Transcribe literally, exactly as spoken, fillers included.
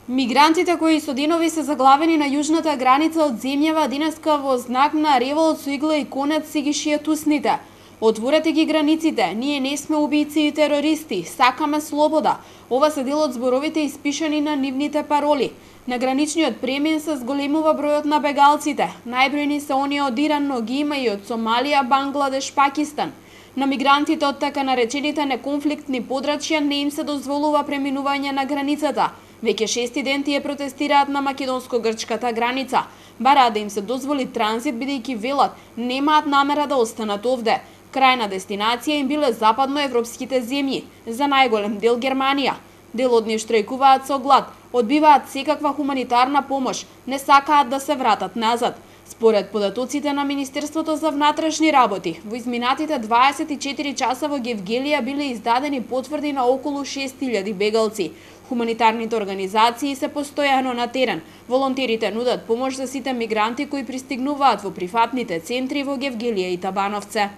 Мигрантите кои со денови се заглавени на јужната граница од земјава денеска во знак на револт со игла и конец си ги шијат усните. Отворете ги границите, ние не сме убијци и терористи, сакаме слобода. Ова се дел од зборовите испишани на нивните пароли. На граничниот премин се зголемува бројот на бегалците. Најбројни се оние од Иран, но ги има и од Сомалија, Бангладеш, Пакистан. На мигрантите од така наречените неконфликтни подрачја не им се дозволува преминување на границата. Веќе шести ден тие протестираат на македонско-грчката граница. Бараат да им се дозволи транзит бидејќи велат немаат намера да останат овде. Крајна дестинација им биле западноевропските земји, за најголем дел Германија. Дел од нив штрајкуваат со глад, одбиваат секаква хуманитарна помош, не сакаат да се вратат назад. Според податоците на Министерството за внатрешни работи, во изминатите дваесет и четири часа во Гевгелија биле издадени потврди на околу шест илјади бегалци. Хуманитарните организации се постојано на терен. Волонтерите нудат помош за сите мигранти кои пристигнуваат во прифатните центри во Гевгелија и Табановце.